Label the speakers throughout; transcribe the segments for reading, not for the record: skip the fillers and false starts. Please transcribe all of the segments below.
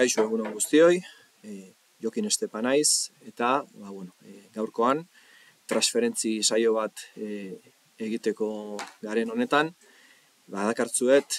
Speaker 1: Kaixo egun on guztioi, Jokin Estepa naiz, eta gaurkoan transferentzi saio bat egiteko garen honetan, dakartzuet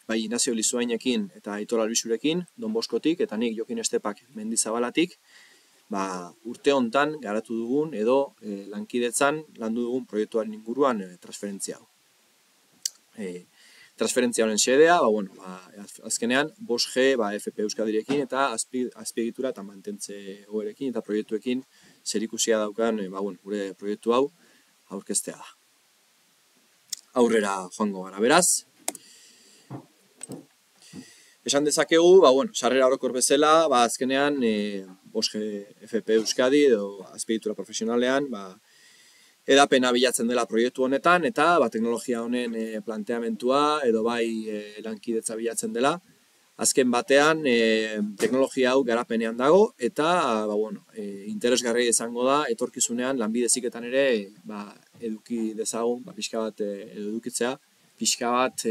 Speaker 1: bai Inazio Lizuainekin eta Aitor Albisurekin, Don Boskotik, eta nik Jokin Estepak Mendizabalatik, urte hontan garatu dugun edo lankidetzan landu dugun proiektuaren inguruan transferentzia hau. Transferentzia honen xedea, azkenean 5G FP Euskadirekin eta azpiegitura eta mantentze goerekin eta proiektuekin zerikusia daukan gure proiektu hau aurkeztea da. Aurrera joango gara beraz. Esan dezakegu, sarrera orokor bezala, azkenean 5G FP Euskadi edo azpiegitura profesionalean, edapena bilatzen dela proiektu honetan, eta teknologia honen planteamentua edo lankidetza bilatzen dela. Azken batean, teknologia hau garapenean dago, eta interesgarria izango da, etorkizunean Lanbide Heziketan ere eduki dezagun, pixka bat edukitzea, pixka bat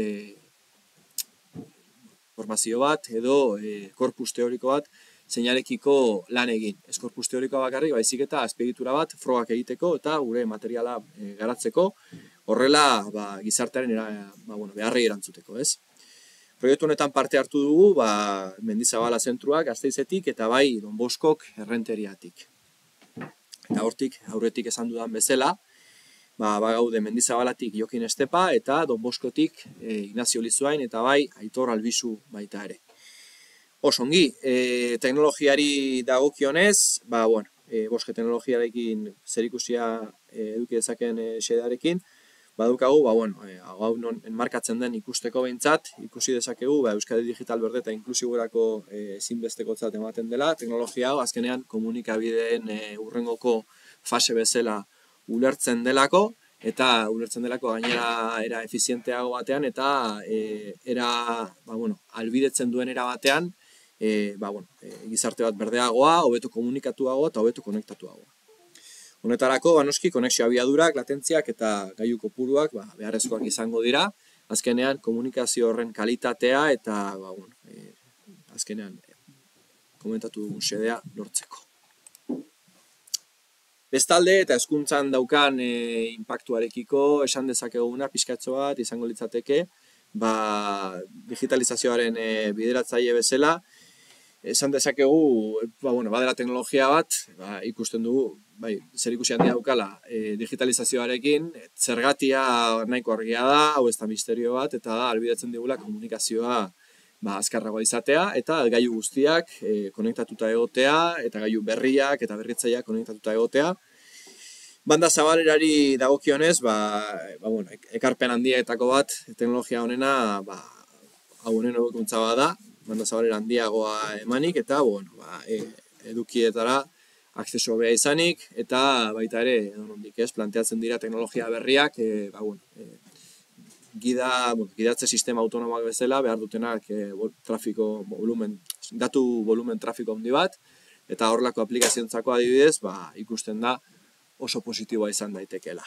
Speaker 1: formazio bat edo korpus teoriko bat zeinarekiko lan egin. Ez korpus teorikoa bakarrik, baizik eta azpiegitura bat frogak egiteko eta gure materiala garatzeko, horrela gizartearen beharrei erantzuteko, ez? Proiektu honetan parte hartu dugu Mendizabala Zentroak Gasteizetik eta Don Boskok Errenteriatik. Eta hortik, aurretik esan dudan bezala, gaude Mendizabalatik Jokin Estepa eta Don Boskotik Inazio Lizuain eta Aitor Albisu baita ere. Osongi, teknologiari dagokionez, 5G teknologiarekin zerikusia eduki dezaken xedearekin, badukagu, hau non enmarkatzen den ikusteko behintzat, ikusi dezakegu, Euskadi Digital Berde eta inklusiborako ezinbestekotzat ematen dela, teknologia hau azkenean komunikabideen hurrengoko fase bezala ulertzen delako, eta ulertzen delako gainera era efizienteago batean, eta albidetzen duen era batean, gizarte bat berdeagoa, hobeto komunikatuagoa eta hobeto konektatuagoa. Honetarako, noski, konexio abiadurak, latentziak eta gailu kopuruak beharrezkoak izango dira, azkenean komunikazio horren kalitatea eta azkenean komentatu dugun xedea lortzeko. Bestalde eta hezkuntzan daukan inpaktuarekiko esan dezakeguna pixkatxo bat izango litzateke, digitalizazioaren bideratzaile bezala, esan dezakegu, badela teknologia bat, ikusten dugu, zerikusi handia daukala digitalizazioarekin, zergatia nahiko argia da, hau ez da misterio bat, eta ahalbidetzen digula komunikazioa azkarragoa izatea, eta gailu guztiak konektatuta egotea, eta gailu berriak eta berritzaileak konektatuta egotea. Banda zabalerari dagokionez, ekarpen handietako bat, teknologia honena, hau honen hobekuntza bada, banda zabalera handiagoa emanik, eta edukietara akzeso hobea izanik, eta baita ere, planteatzen dira teknologia berriak, gidatze sistema autonomoak bezala, behar dutenak datu volumen trafiko handi bat, eta horrelako aplikaziontzako adibidez, ikusten da oso positiboa izan daitekeela.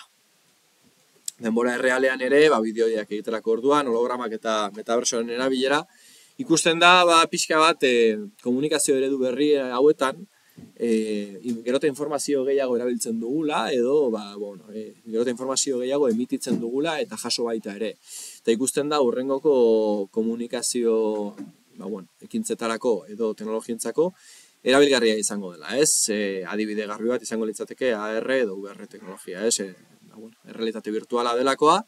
Speaker 1: Denbora errealean ere, bideoiak egiterako orduan, hologramak eta metaversoaren erabilera, ikusten da, pixka bat, komunikazio eredu berri hauetan, gero eta informazio gehiago erabiltzen dugula, edo, gero eta informazio gehiago emititzen dugula, eta jaso baita ere. Eta ikusten da, hurrengoko komunikazio, ekintzetarako edo teknologientzako, erabilgarria izango dela, ez? Adibide garbi bat izango litzateke AR edo VR teknologia, ez? Errealitate virtuala delakoa,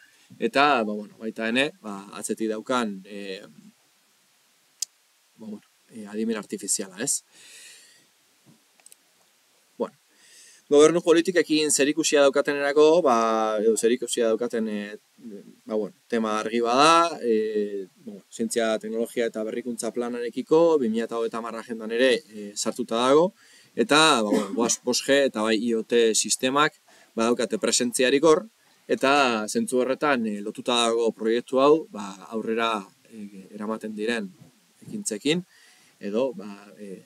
Speaker 1: eta, baita ene, atzetik daukan adimen artifiziala, ez? Gobernu politikekin zerikusia daukatenerako, edo zerikusia daukaten tema argi bada, zientzia, teknologia eta berrikuntza planarekiko, 2030 agendan ere sartuta dago, eta 5G eta IoT sistemak badaukate presentziarik hor, eta zentzu horretan lotuta dago proiektu hau aurrera eramaten diren ekintzekin, edo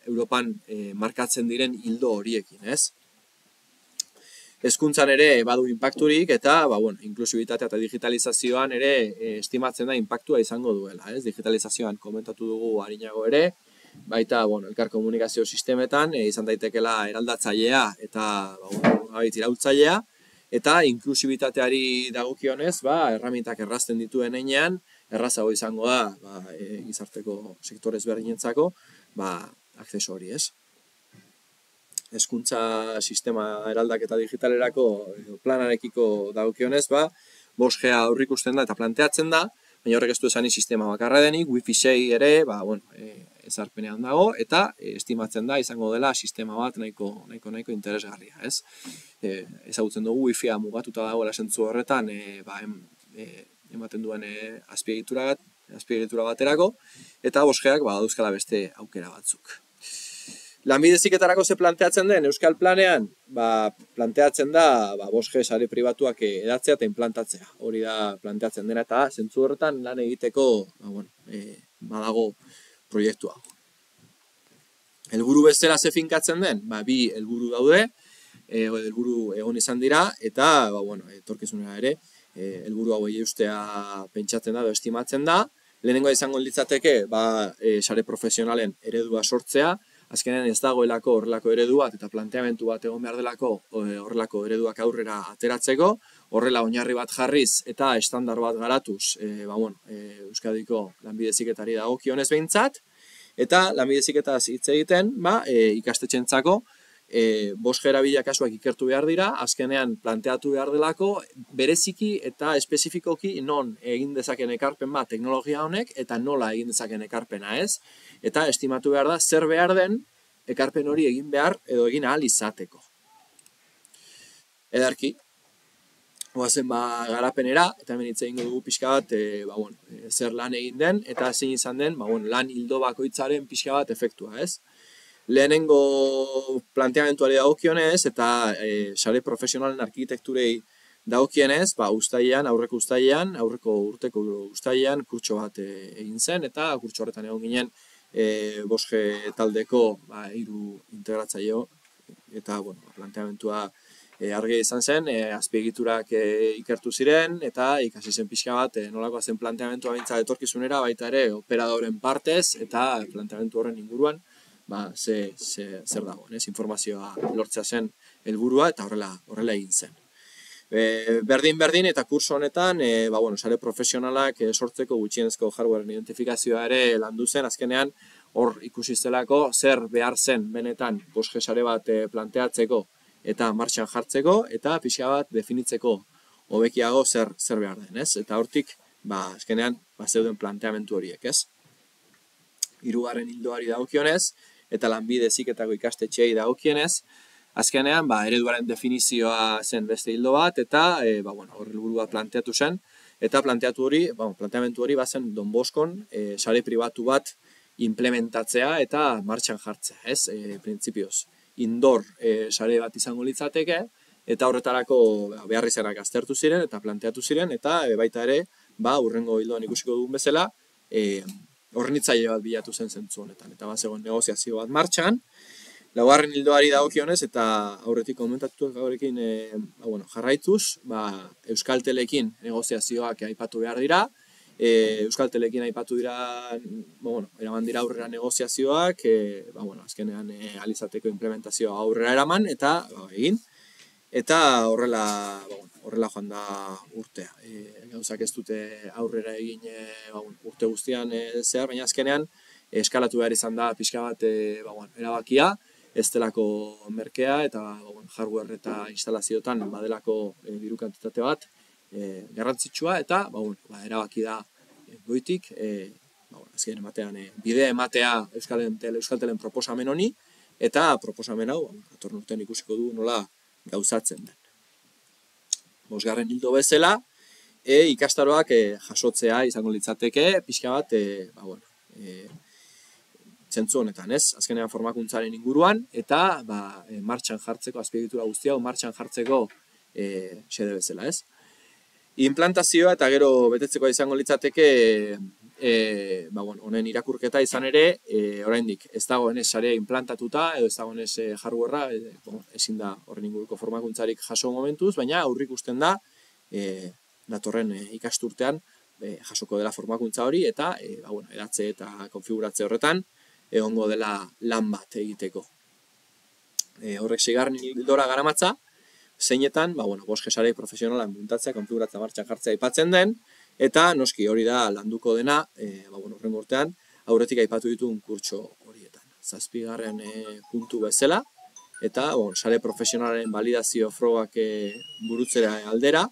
Speaker 1: Europan markatzen diren ildo horiekin, ez? hezkuntzan ere badu inpakturik eta inklusibitatea eta digitalizazioan ere estimatzen da inpaktua izango duela, ez? Digitalizazioan komentatu dugu arinago ere, baita elkar komunikazio sistemetan izan daitekeela eraldatzailea eta iraultzailea, eta inklusibitateari dagokionez, erramintak errazten dituen heinean, errazago izango da gizarteko sektore ezberdinentzako akzeso hori, ez? Hezkuntza sistema eraldaketa digitalerako planarekiko dagokionez, 5G aurreikusten da eta planteatzen da, baina horrek ez du esanik sistema bakarra denik, Wi-Fi 6 ere, ezarpenean dago, eta estimatzen da izango dela sistema bat nahiko interesgarria, ez? Ezagutzen dugu Wi-Fi-a mugatuta dagoela zentzu horretan, ematen duen azpiegitura baterako, eta 5Gak dauzkala beste aukera batzuk. Lanbide Heziketarako ze planteatzen den, Euskal Planean, planteatzen da 5G sare pribatuak edatzea eta implantatzea. Hori da planteatzen dena eta zentzu horretan lan egiteko badago proiektua. Helburu bezala ze finkatzen den, bi helburu daude, helburu egon izan dira, eta etorkizunera ere, helburu hauei eustea pentsatzen da edo estimatzen da. Lehenengoa izango litzateke, sare profesionalen eredua sortzea, azkenean ez dagoelako horrelako eredu bat eta planteamendu bat egon behar delako horrelako ereduak aurrera ateratzeko, horrela oinarri bat jarriz eta estandar bat garatuz Euskadiko lanbide heziketari dagokionez behintzat, eta lanbide heziketaz hitz egiten ikastetxeentzako 5G erabilera kasuak ikertu behar dira, azkenean planteatu behar delako bereziki eta espezifikoki non egin dezaken ekarpen teknologia honek eta nola egin dezaken ekarpena, ez? Eta estimatu behar da zer behar den ekarpen hori egin behar edo egin ahal izateko. Edarki, goazen garapenera, eta hemen hitz egingo dugu pixka bat zer lan egin den eta zein izan den lan hildo bakoitzaren pixka bat efektua, ez? Lehenengo planteamentuari dagokionez eta sare profesionalen arkitekturei dagokienez, aurreko urteko uztailean kurtso bat egin zen, eta kurtso horretan egon ginen 5G taldeko 3 integratzaile eta planteamentua argia izan zen, azpiegiturak ikertu ziren, eta ikasi zen pixka bat nolakoa zen planteamentua behintzat etorkizunera, baita ere operadoren partez, eta planteamentu horren inguruan zer dago, informazioa lortzea zen helburua eta horrela egin zen. Berdin eta kurso honetan, sare profesionalak sortzeko gutxienezko hardwaren identifikazioa ere landu zen, azkenean hor ikusi zelako zer behar zen benetan 5G sare bat planteatzeko eta martxan jartzeko, eta pixka bat definitzeko hobekiago zer behar den, ez? Eta hortik, azkenean, zeuden planteamentu horiek, ez? 3. hildoari dagokionez, eta lanbide heziketako ikastetxeei dagokienez, azkenean, ereduaren definizioa zen beste hildo bat, eta hor helburu bat planteatu zen, eta planteamentu hori bazen Don Boskon sare pribatu bat implementatzea eta martxan jartzea, ez? Printzipioz, indoor sare bat izango litzateke, eta horretarako beharrizanak aztertu ziren eta planteatu ziren, eta baita ere, hurrengo hildoan ikusiko dugun bezala, hornitzaile bat bilatu zen zentzu honetan, eta bazegoen negoziazio bat martxan. 4. hildoari dagokionez eta aurretik komentatu gaurekin jarraituz, Euskaltelekin negoziazioak aipatu behar dira, Euskaltelekin aipatu dira, eraman dira aurrera negoziazioak, azkenean alizateko implementazioa aurrera eraman, eta egin, eta horrela joan da urtea. Gauzak ez dute aurrera egin urte guztian zehar, baina azkenean eskalatu behar izan da pixka bat erabakia, ez delako merkea eta hardware eta instalazioetan badelako diru kantitate bat garrantzitsua, eta erabaki da goitik, azken ematean bidea ematea Euskaltelen proposamen honi, eta proposamen hau datorren urtean ikusiko du nola gauzatzen den. 5. hildo bezala, ikastaroak jasotzea izango litzateke, pixka bat, zentzu honetan, ez? Azkenean formakuntzaren inguruan, eta martxan jartzeko, azpiegitura guztia, martxan jartzeko xede bezala, ez? Implantazioa eta gero betetzeko izango litzateke honen irakurketa izan ere, oraindik ez dagoenez sarea implantatuta edo ez dagoenez hardwarea, ezin da horren inguruko formakuntzarik jaso momentuz, baina aurreikusten da datorren ikasturtean jasoko dela formakuntza hori eta edatze eta konfiguratze horretan egongo dela lan bat egiteko. Horrek 6. ildora garamatza, zeinetan, boske sare profesionalan muntatzea, konfiguratzea, martxan jartzea aipatzen den, eta noski hori da landuko dena, horrengo urtean, aurretik aipatu dituen kurtso horietan. 7. puntu bezala, eta sare profesionalaren validazio frogak burutzera aldera,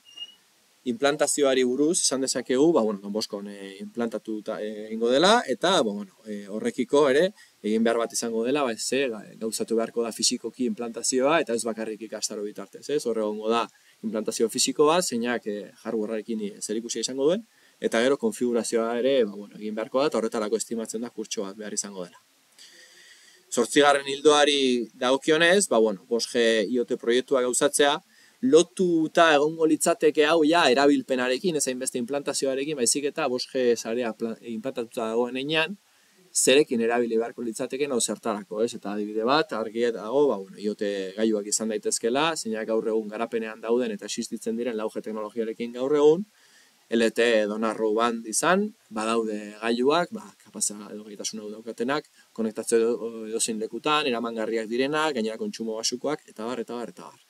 Speaker 1: implantazioari buruz esan dezakegu, Don Boskon implantatu egingo dela, eta horrekiko ere, egin behar bat izango dela, gauzatu beharko da fisikoki implantazioa, eta ez bakarrik ikastaro bitartez, horre egongo da implantazio fisikoa, zeinak hardwarearekin zerikusia izango duen, eta gero konfigurazioa ere egin beharko da, eta horretarako estimatzen da kurtso bat behar izango dela. 8. ildoari dagokionez, Boske IoT proiektua gauzatzea, lotuta egongo litzateke hau erabilpenarekin, ez hainbeste implantazioarekin, baizik eta Boske sarea implantatuta dagoen einean, zerekin erabili beharko litzateken hau zertarako, ez? Eta adibide bat, argi dago, IoT gailuak izan daitezkela, zeinak gaur egun garapenean dauden eta existitzen diren lauge teknologiarekin gaur egun, LTE edo narrowband izan, badaude gailuak, kapazia edo gaitasun hau daukatenak, konektatzea edozein lekutan, eramangarriak direnak, gainera kontsumo basukoak, eta bar, eta bar, eta bar.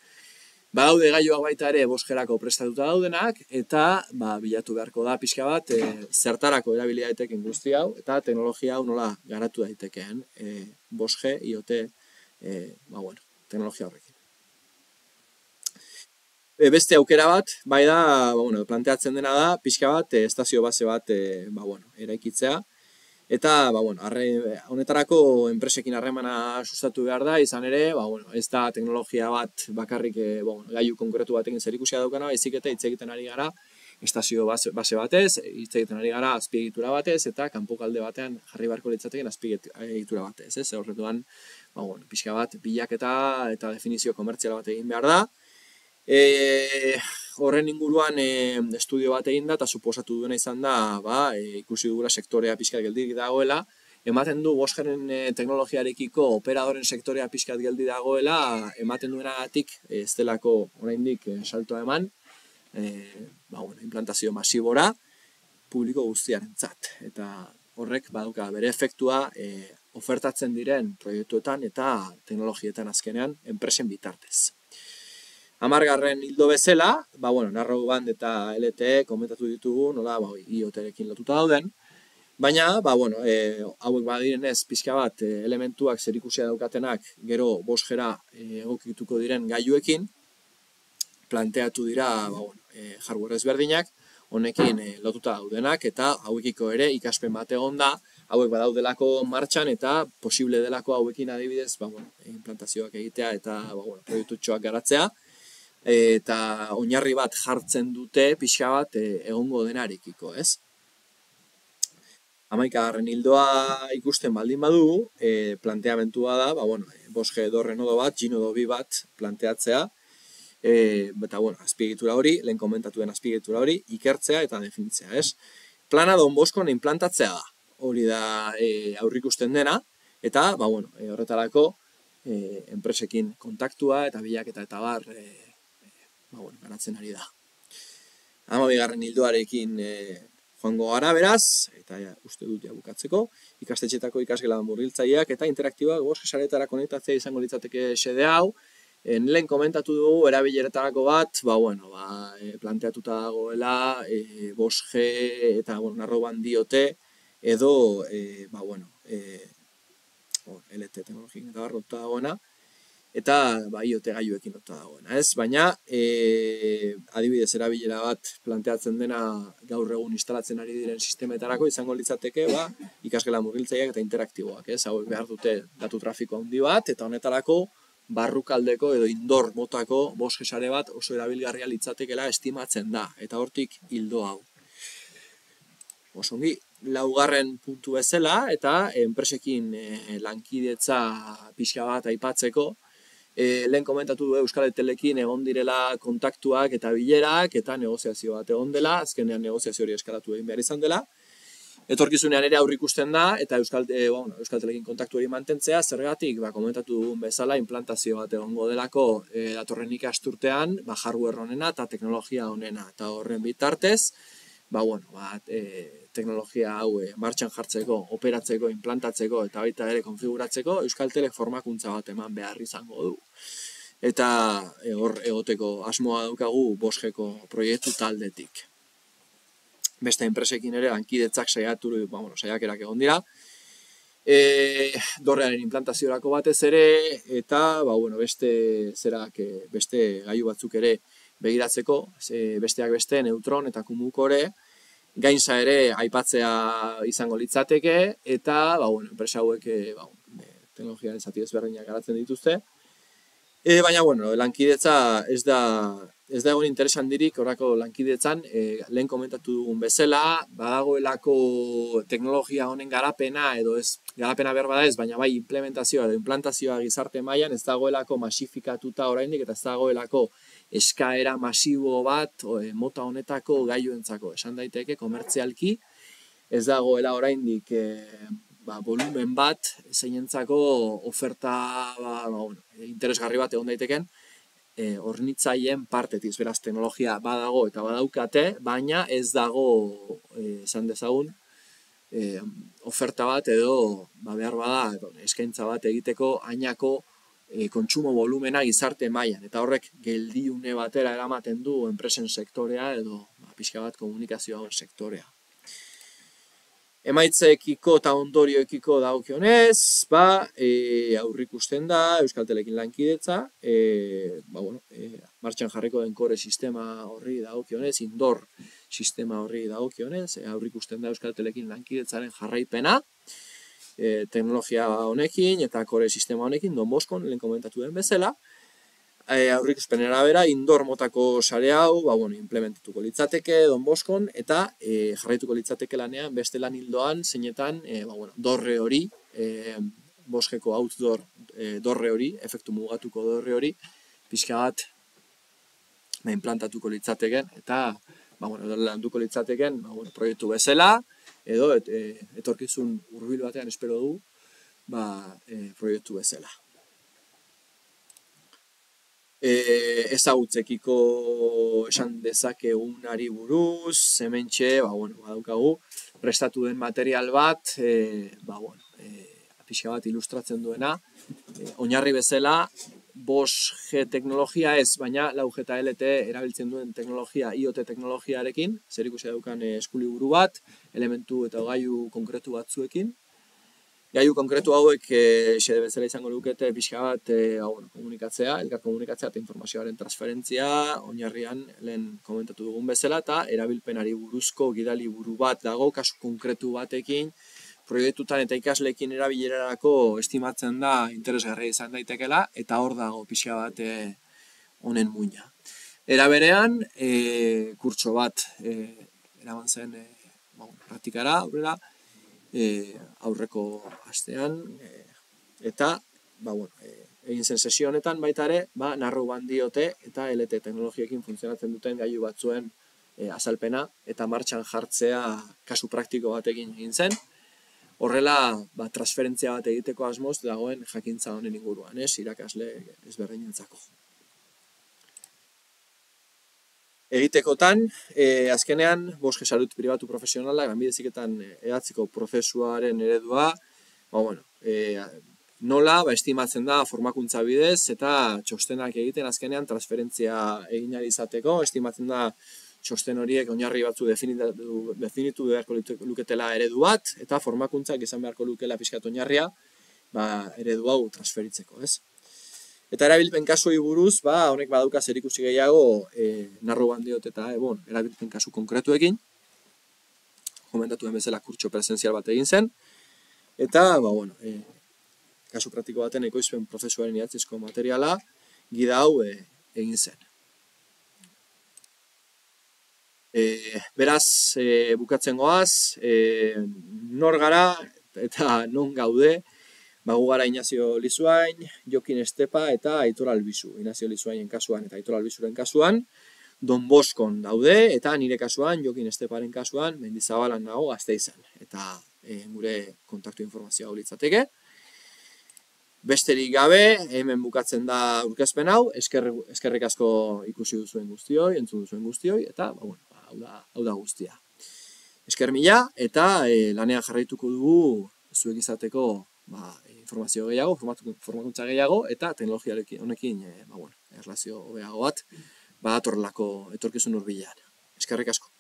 Speaker 1: Badaude gailuak baita ere Boskerako prestatuta daudenak, eta bilatu beharko da pixka bat zertarako erabili daiteken guzti hau, eta teknologia hau nola garatu daitekeen Boske IoT teknologia horrekin. Beste aukera bat, bai da, planteatzen dena da, pixka bat, estazio base bat eraikitzea, eta, honetarako enpresekin harremana sustatu behar da, izan ere, ez da teknologia bat bakarrik gailu konkretu batekin zerikusia daukana, baizik eta hitz egiten ari gara estazio base batez, hitz egiten ari gara azpiegitura batez, eta kanpokalde batean jarri beharko litzateken azpiegitura batez, ez? Horretuan, pixka bat, bilaketa eta definizio komertziala bat egin behar da. Horren inguruan estudio bat egin da, eta suposatu duena izan da, ikusi dugula sektorea pixkat geldik dagoela, ematen du Boskeren teknologiarekiko operadoren sektorea pixkat geldi dagoela, ematen duenagatik ez delako oraindik saltoa eman, implantazio masibora publiko guztiarentzat. Eta horrek baduka bere efektua ofertatzen diren proiektuetan eta teknologietan azkenean enpresen bitartez. 10. ildo bezala, narrowband eta LTE komentatu ditugu, nola IoT-rekin lotuta dauden, baina, hauek badirenez pixka bat elementuak zerikusia daukatenak gero Boskera egokituko diren gailuekin, planteatu dira hardware ezberdinak, honekin lotuta daudenak, eta hauekiko ere ikaspen bat egon da, hauek badaudelako martxan eta posible delako hauekin adibidez, implantazioak egitea eta proiektutxoak garatzea, eta oinarri bat jartzen dute pixka bat egongo denarekiko, ez? 11. ildoa ikusten baldin badugu, planteamentua da, Boske edo Renodo bat, Ginodo 2 bat planteatzea, eta azpiegitura hori, lehen komentatuen azpiegitura hori, ikertzea eta definitzea, ez? Plana Don Boskon implantatzea da, hori da aurrikusten dena, eta horretarako enpresekin kontaktua eta bilaketa eta bar garatzen ari da. 12. ildoarekin joango gara beraz, eta uste dut bukatzeko, ikastetxetako ikasgela murgiltzaileak eta interaktiboak Boske sareetara konektatzea izango litzateke xede hau. Lehen komentatu dugu erabileretarako bat, planteatuta dagoela Boske eta narrowband IoT edo LTE teknologik eta lotuta dagoena, eta IoT gailuekin lotuta dagoena, ez? Baina, adibidez erabilera bat planteatzen dena gaur egun instalatzen ari diren sistemetarako izango litzateke, ikasgela murgiltzaileak eta interaktiboak, ez? Hauek behar dute datu trafiko handi bat, eta honetarako barrukaldeko edo indoor motako Boske sare bat oso erabilgarria litzatekela estimatzen da, eta hortik ildo hau. Osongi, 4. puntu bezala, eta enpresekin lankidetza pixka bat aipatzeko, Lehen komentatu du Euskal Etelekin egon direla kontaktuak eta bilerak eta negoziazio bat egon dela, azkenean negoziazio hori eskalatu egin behar izan dela. Etorkizunean ere aurrikusten da, eta Euskal Telekin kontaktu hori mantentzea, zergatik, komentatu dugun bezala, implantazio bat egongo delako datorren ikasturtean, hardware honena eta teknologia honena, eta horren bitartez, teknologia hau martxan jartzeko, operatzeko, implantatzeko eta baita ere konfiguratzeko, Euskal Telek formakuntza bat eman behar izango du. Eta hor egoteko asmoa daukagu 5Gko proiektu taldetik. Beste enpresekin ere lankidetzak saiakerak egon dira. Dorrearen implantaziorako batez ere, eta beste gailu batzuk ere begiratzeko, besteak beste neutron eta kumukore, gainza ere aipatzea izango litzateke, eta enpresa hauek teknologiaren zati ezberdinak garatzen dituzte. Baina, lankidetza ez da egon interesandirik horrako lankidetzan, lehen komentatu dugun bezala, badagoelako teknologia honen garapena, edo ez, garapena behar bada ez, baina bai implementazioa edo implantazioa gizarte mailan ez dagoelako masifikatuta oraindik, eta ez dagoelako eskaera masibo bat mota honetako gailuentzako, esan daiteke komertzialki, ez dagoela oraindik volumen bat zeinentzako oferta interesgarri bat egon daiteken hornitzaileen partetik, beraz teknologia badago eta badaukate, baina ez dago esan dezagun oferta bat edo behar bada eskaintza bat egiteko hainako kontsumo volumena gizarte mailan, eta horrek geldiune batera eramaten du enpresen sektorea edo pixka bat komunikazioa sektorea. Emaitzekiko eta ondorioekiko dagokionez, aurrikusten da Euskal Telekin lankidetza, martxan jarriko den kore sistema horri dagokionez, indoor sistema horri dagokionez, aurrikusten da Euskal Telekin lankidetzaren jarraipena, teknologia honekin eta kore sistema honekin, Don Boskon, lehen komentatu den bezala, aurrikuspenera bera, indoor motako sare hau, implementatuko litzateke Don Boskon, eta jarraituko litzateke lanean beste lan hildoan, zeinetan, dorre hori, 5Gko outdoor dorre hori, efektu mugatuko dorre hori, pixka bat implantatuko litzateken, eta landuko litzateken proiektu bezala, edo etorkizun hurbil batean espero du, proiektu bezala. Ezagutzekiko esan dezakegunari buruz, hementxe, badaukagu, prestatu den material bat, pixka bat ilustratzen duena, oinarri bezala, 5G teknologia ez, baina 4G eta LTE erabiltzen duen teknologia, IoT teknologiarekin, zer ikusi daukan eskuliburu bat, elementu eta gailu konkretu batzuekin. Gailu konkretu hauek xede bezala izango lukete pixka bat komunikatzea, elkar komunikatzea eta informazioaren transferentzia, oinarrian lehen komentatu dugun bezala, eta erabilpenari buruzko gidaliburu bat dago, kasu konkretu batekin, proiektutan eta ikasleekin erabilerarako estimatzen da interesgarria izan daitekela, eta hor dago pixka bat honen muina. Era berean, kurtso bat eraman zen praktikara, aurrera, aurreko astean, eta egin zen sesio honetan baita ere, narrowband diote eta LTE teknologiekin funtzionatzen duten gailu batzuen azalpena eta martxan jartzea kasu praktiko batekin egin zen. Horrela, transferentzia bat egiteko asmoz dagoen jakintza honen inguruan, irakasle ezberdinentzako. Egitekotan, azkenean, 5G salut pribatu profesionala, lanbide heziketan hedatzeko prozesuaren eredua, nola, estimatzen da formakuntza bidez, eta txostenak egiten azkenean transferentzia egin ahal izateko, estimatzen da txosten horiek oinarri batzu definitu beharko luketela eredu bat, eta formakuntzak izan beharko lukela pixkat oinarria, eredu hau transferitzeko, ez? Eta erabilpen kasuei buruz, honek badauka zerikusi gehiago narrowband diot eta erabilpen kasu konkretuekin. Komentatu den bezala kurtso presentzial bat egin zen. Eta, kasu praktiko baten ekoizpen prozesuaren idatzizko materiala, gida hau egin zen. Beraz, bukatzen goaz, nor gara eta non gaude, Gu gara Inazio Lizuain, Jokin Estepa eta Aitor Albizu. Inazio Lizuainen kasuan eta Aitor Albizuren kasuan, Don Boskon daude, eta nire kasuan, Jokin Esteparen kasuan, Mendizabalan nago Gasteizen. Eta gure kontaktu informazioa hau litzateke. Besterik gabe, hemen bukatzen da aurkezpen hau, eskerrik asko ikusi duzuen guztioi, entzun duzuen guztioi, eta hau da guztia. Esker mila, eta lanean jarraituko dugu zuek izateko informazio gehiago, formakuntza gehiago, eta teknologia honekin erlazio hobeago bat, atorrelako etorkizun hurbilean. Eskerrik asko.